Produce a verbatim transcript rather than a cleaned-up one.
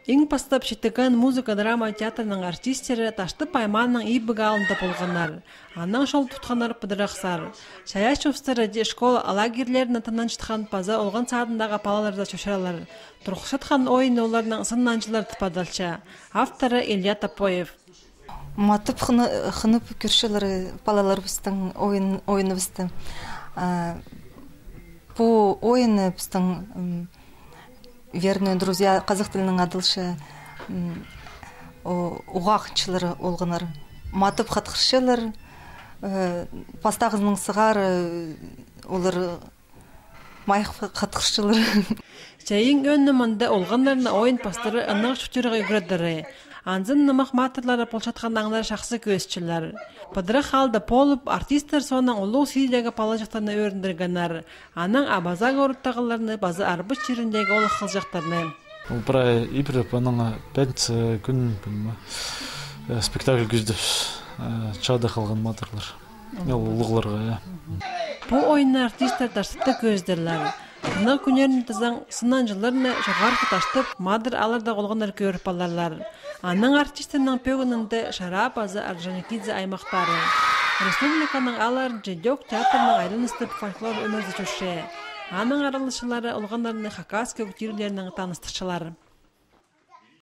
Иң пастап Читіген музыка-драма театрның артисттері Таштып аймааның Ибіг аалында полғаннар. Анаң чол тутханнар пыдырах сар. Чайаачы устары дее школа лагерьлеріне тынанчатхан паза олған садындағы палаларда чочыралар. Турғысчатхан ойын оларның сынанҷылар тіп адалча. Авторы Илья Топоев. Матап хынып кӧрчелер палаларыбыстың ойын ойыныбысты. Пу ойыны пістің верные друзья, қазақ тілінің адалча уғағынчылары олғаннар. Матап хатхырчалар. Пастағызының сығары олар майых хатхырчылар. Чайың ӧні мында олғаннарны ойын пастары ыннығ чутирға ӱгредері. Анзын нымах матырлары полчатхан аңнар шахсы кӧзітчелер. Пыдырах аалда полып, артисттер соонаң улуғ сидегі палаҷахтарны ӧріндіргеннер. Анаң Абаза городтағыларны паза Арбыс чиріндегі олох хылҷахтарны. Ол прай ибіре паның пятница кӱн спектакль кӧзідібіс. Чада халған матырлар. Ол улуғларға, я. Пу ойынны артисттер Таштыпта кӧзідерлер. Тынағ кӱннерін тізең, сынанҷыларны Чоғархы Таштып, Мадыр аалларда олғаннар кӧріп аларлар. Аның артистернің пӧгінінде Шара паза Орджоникидзе аймахтары. Республиканың аалларынҷа Дёк театрның айланыстып фольклор ӧмезі чӧрче. Аның араласчылары олғаннарны хакас кӧг тиріглерінең таныстырчалар.